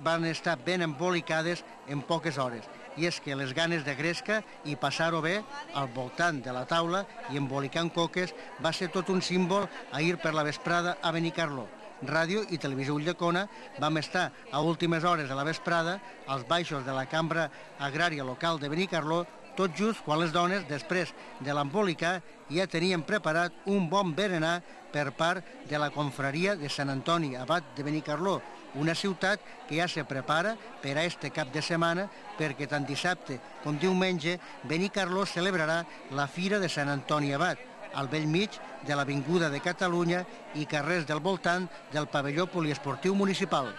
van estar ben embolicades en poques hores. I és que les ganes de gresca i passar-ho bé al voltant de la taula i embolicant coques va ser tot un símbol ahir per la vesprada a Benicarló. Ràdio i Televisió Ulldecona vam estar a últimes hores de la vesprada als baixos de la cambra agrària local de Benicarló, tot just quan les dones, després de l'embolicar, ja tenien preparat un bon berenar per part de la confraria de Sant Antoni, abat de Benicarló, una ciutat que ja se prepara per a este cap de setmana perquè tant dissabte com diumenge Benicarló celebrarà la Fira de Sant Antoni Abat, al bell mig de l'Avinguda de Catalunya i carrers del voltant del pavelló poliesportiu municipal.